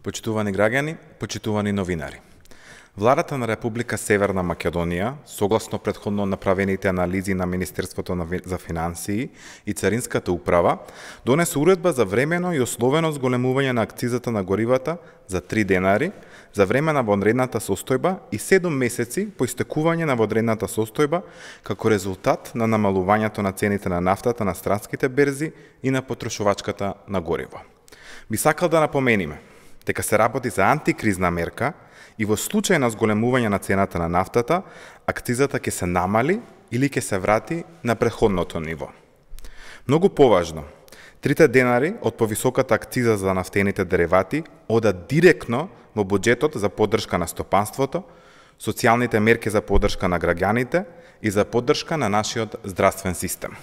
Почитувани граѓани, почитувани новинари. Владата на Република Северна Македонија, согласно претходно направените анализи на Министерството за финансии и Царинската управа, донесе уредба за времено и условено зголемување на акцизата на горивата за 3 денари за време на вонредната состојба и 7 месеци по истекување на вонредната состојба како резултат на намалувањето на цените на нафтата на странските берзи и на потрошувачката на гориво. Би сакал да напомениме дека се работи за антикризна мерка и во случај на зголемување на цената на нафтата, акцизата ќе се намали или ќе се врати на претходното ниво. Многу поважно, 3 денари од повисоката акциза за нафтените деривати одат директно во буџетот за поддршка на стопанството, социјалните мерки за поддршка на граѓаните и за поддршка на нашиот здравствен систем.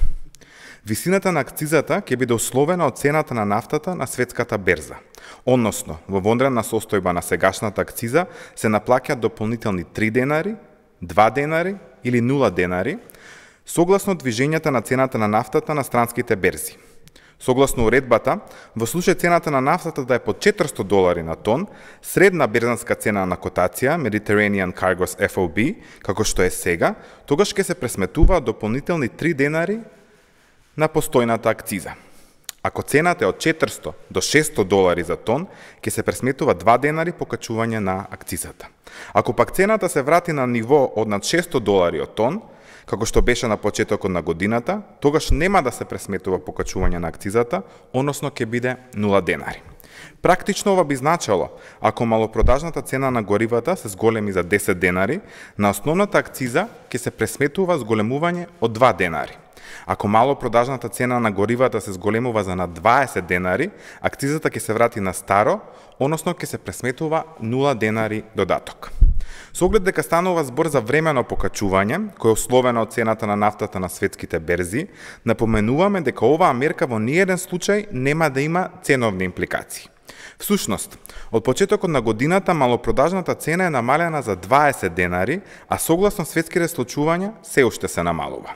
Висината на акцизата ќе биде условена од цената на нафтата на светската берза, односно во вонредна состојба на сегашната акциза се наплаќаат дополнителни 3 денари, 2 денари или 0 денари, согласно движењата на цената на нафтата на странските берзи. Согласно уредбата, во случај цената на нафтата да е под $400 на тон, средна берзанска цена на котација, Mediterranean Cargos FOB, како што е сега, тогаш ќе се пресметуваат дополнителни 3 денари на постојната акциза. Ако цената е од $400 до $600 за тон, ќе се пресметува 2 денари покачување на акцизата. Ако пак цената се врати на ниво од над $600 од тон, како што беше на почетокот на годината, тогаш нема да се пресметува покачување на акцизата, односно ќе биде 0 денари. Практично ова би значило, ако малопродажната цена на горивата се зголеми за 10 денари, на основната акциза ќе се пресметува зголемување од 2 денари. Ако малопродажната цена на горивата се зголемува за над 20 денари, акцизата ќе се врати на старо, односно ќе се пресметува 0 денари додаток. Со оглед дека станува збор за времено покачување, кој е условено од цената на нафтата на светските берзи, напоменуваме дека оваа мерка во ниеден случај нема да има ценовни импликации. Всушност, од почетокот на годината малопродажната цена е намалена за 20 денари, а согласно светските случувања се уште се намалува.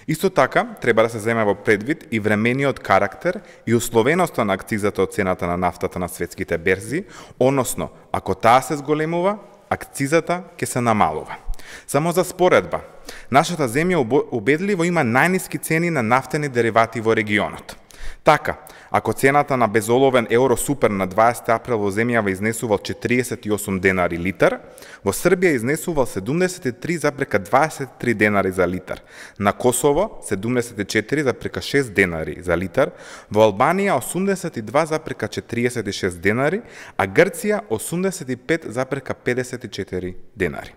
Исто така, треба да се земе во предвид и времениот карактер и условеноста на акцизата од цената на нафтата на светските берзи, односно, ако таа се зголемува, акцизата ќе се намалува. Само за споредба, нашата земја убедливо има најниски цени на нафтени деривати во регионот. Така, ако цената на безоловен Евросупер на 20 април во земјава изнесувал 48 денари литар, во Србија изнесувал 73,23 денари за литар, на Косово 74,6 денари за литар, во Албанија 82,46 денари, а Грција 85,54 денари.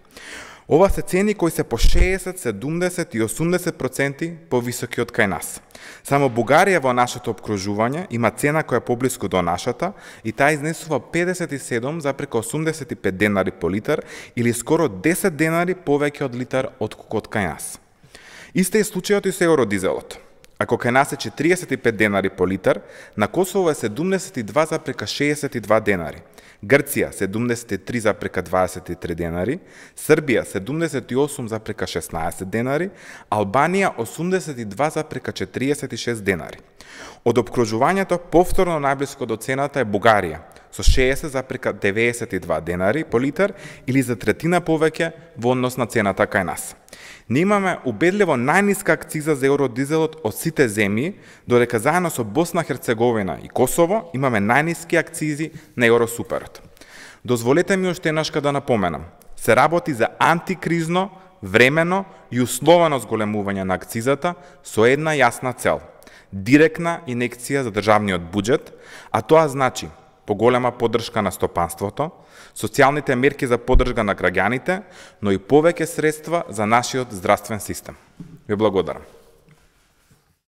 Ова се цени кои се по 60, 70 и 80% повисоки од кај нас. Само Бугарија во нашето обкружување има цена која е поблиску до нашата и таа изнесува 57,85 денари по литар или скоро 10 денари повеќе од литар отколку од кај нас. Исто е случајот и со евродизелот. Ако кај нас е 45 денари по литар, на Косово е 72,62 денари, Грција 73,23 денари, Србија 78,16 денари, Албанија 82,46 денари. Од обкружувањето повторно најблиско до цената е Бугарија со 60,92 денари по литар или за третина повеќе во однос на цената кај нас. Ние имаме убедливо најниска акциза за евродизелот од сите земји, додека заедно со Босна, Херцеговина и Косово имаме најниски акцизи на Евросуперот. Дозволете ми уште еднашка да напоменам, се работи за антикризно, времено и условено зголемување на акцизата со една јасна цел – директна инекција за државниот буџет, а тоа значи поголема поддршка на стопанството, социјалните мерки за поддршка на граѓаните, но и повеќе средства за нашиот здравствен систем. Ви благодарам.